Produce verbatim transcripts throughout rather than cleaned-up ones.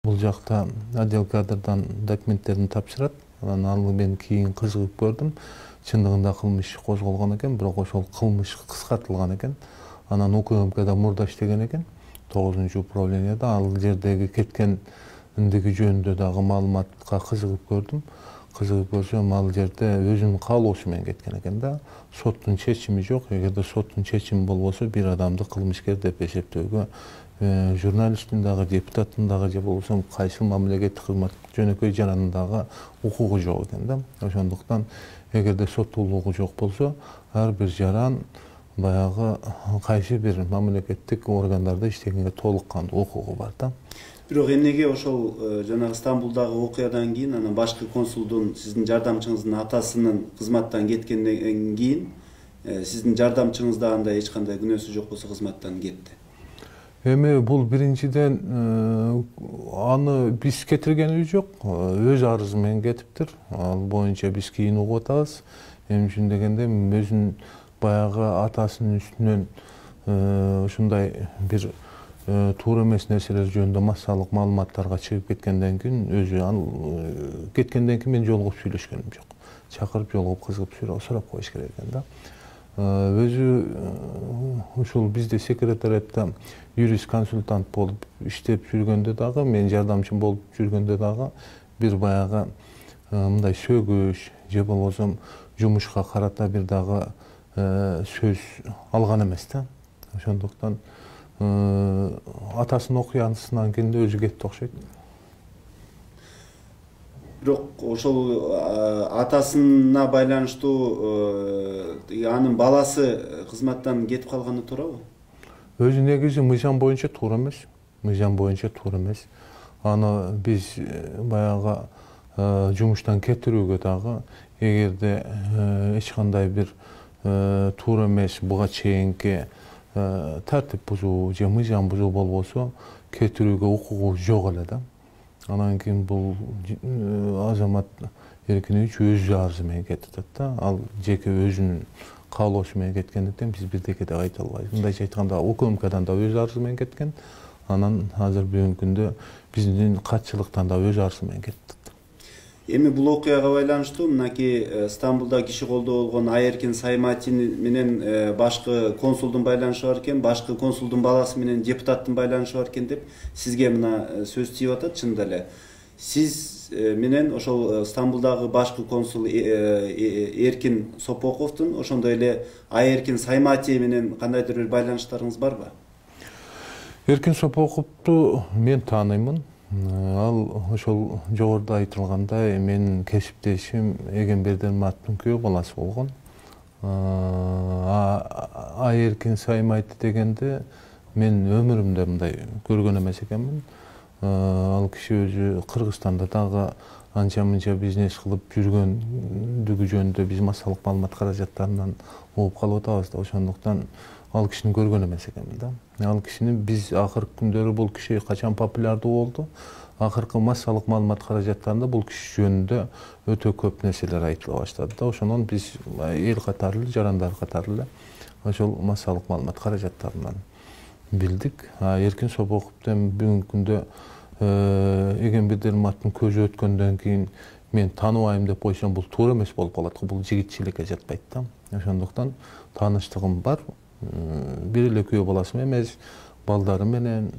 бул жакта отдел кадрдан документтерин тапшырат. Анан ал мен кийин кызыгып көрдүм. Чындыгында кылмыш козголгон экен, бирок ошол кылмыш кыскартылган экен. Анан УКМКда мурда иштеген экен, тогузунчу управленияда. Ал жердеги кеткендиги жөнүндө дагы маалыматка кызыгып көрдүм. Кызыгып көрсөм, ал жерде өзүнүн каалоосу менен кеткен экен да. Соттун чечими жок. Эгерде соттун чечими болбосо, бир адамды кылмышкер деп эсептөөгө журналисттин дагы, депутаттын дагы же болбосо кайсы мамлекеттик кызмат жөнөкөй жаранын дагы укугу жок экен да. Ошондуктан эгерде соттуулугу жок болсо, ар бир жаран баягы кайсы бир мамлекеттик органдарда иштегенге толук кандуу укугу бар да. Бирок эмнеге ошол жанагы Стамбулдагы окуядан кийин анан башкы консулдун, сиздин жардамчыңыздын атасынын кызматтан кеткенден кийин сиздин жардамчыңыз да андай эч кандай күнөөсү жок болсо кызматтан кетти? Эми бул биринчиден аны биз кетиргенибиз жок, өз арызы менен кетиптир. Ал боюнча биз кийин угуп атабыз. Эмне үчүн дегенде, өзүнүн баягы атасынын үстүнөн ушундай бир туура эмес нерселер жөнүндө массалык маалыматтарга чыгып кеткенден кийин, өзү ал кеткенден кийин мен жолугуп сүйлөшкөнүм жок. Чакырып жолугуп кызыгып сурап коюш керек экен да. Өзү ушул бизде секретариатта юрист консультант болуп иштеп жүргөндө дагы, мен жардамчым болуп жүргөндө дагы бир баягы мындай сөгүш же болбосо жумушка карата бир дагы сөз алган эмес да. Ошондуктан атасынын окуясынан кийин өзү кетти окшойт. Бирок ошол атасына байланыштуу анын баласы кызматтан кетип калганы туурабы? Өзү негизи мыйзам боюнча туура эмес. Мыйзам боюнча туура эмес. Аны биз баягы жумуштан кетирүүгө дагы, эгерде эч кандай бир туура эмес буга чейинки тартип бузуу же мыйзам бузуу болбосо, кетирүүгө укугу жок эле да. Анан кийин бул азамат Эркинович өз арызы менен кетип атат да. Ал жеке өзүнүн каалоосу менен кеткендиктен биз бирдеке деп айта албайбыз. Мындайча айтканда, УКМКдан да өз арызы менен кеткен. Анан азыр бүгүнкү күндө биздин катчылыктан да өз арызы менен кетти. Эми бул окуяга байланыштуу мынакей Стамбулда киши колдоо болгон Айэркин Сайматин менен башкы консулдун байланышы бар экен, башкы консулдун баласы менен депутаттын байланышы бар экен деп сизге мына сөз тийип атат. Чындап эле сиз менен ошол Стамбулдагы башкы консул Эркин Сопоковдун, ошондой эле Айэркин Саймати менен кандайдыр бир байланыштарыңыз барбы? Эркин Сопоковду мен тааныймын. Ал ошол жогоруда айтылгандай менин кесиптешим Эгембердин Маттын күйөө баласы болгон. Айэркин Саймайты дегенде мен өмүрүмдө мындай көргөн эмес экенмин. Ал киши өзү Кыргызстанда дагы анча-мынча бизнес кылып жүргөндүгү жөнүндө биз массалык маалымат каражаттарынан угуп калып атабыз да. Ошондуктан ал кишини көргөн эмес экенмин да. Ал кишини биз акыркы күндөрү бул киши качан популярдуу болду, акыркы массалык маалымат каражаттарында бул киши жөнүндө өтө көп нерселер айтыла баштады да. Ошондон биз эл катары эле, жарандар катары эле ошол массалык маалымат каражаттарынан билдик. Эркин Сопоковдон бүгүнкү күндө Эгембердин Маттын көзү өткөндөн кийин мен тааныбайм деп койсом, бул туура эмес болуп калат. Бул жигитчиликке жатпайт да. Ошондуктан тааныштыгым бар. Бир эле күйөө баласы эмес, балдары менен,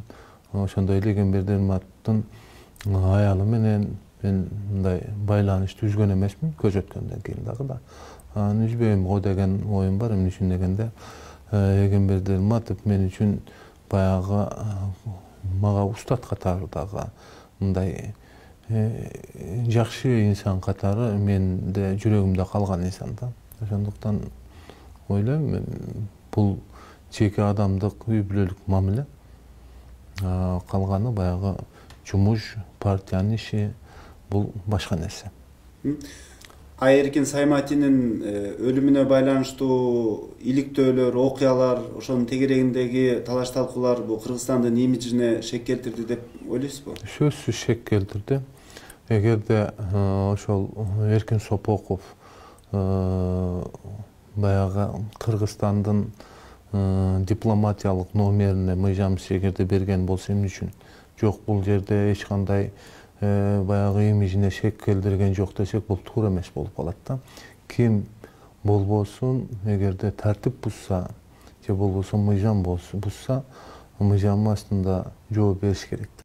ошондой эле Эгембердин Маттын аялы менен мен мындай байланышты үзгөн эмесмин, көз өткөндөн кийин дагы да. Аны үзбөйм го деген оюм бар. Эмне үчүн дегенде, Эгембердин Матов мен үчүн баягы мага устат катары дагы мындай жакшы инсан катары менде жүрөгүмдө калган инсан да. Ошондуктан ойлойм, бул жеке адамдык үй бүлөлүк мамиле. Калганы баягы жумуш, партиянын иши, бул башка нерсе. Айэркин Сайматинин өлүмүнө байланыштуу иликтөөлөр, окуялар, ошонун тегерегиндеги талаш талкуулар бул Кыргызстандын имиджине шек келтирди деп ойлойсузбу? Сөзсүз шек келтирди. Эгерде ошол Эркин Сопоков баягы Кыргызстандын дипломатиялык номерине мыйзамсыз эгерде берген болсо, эмне үчүн жок бул жерде эч кандай баягы имижине шек келтирген жок десек, бул туура эмес болуп калат да. Ким болбосун, эгерде тартип бузса же болбосо мыйзам бузса, мыйзамдын астында жооп бериш керек.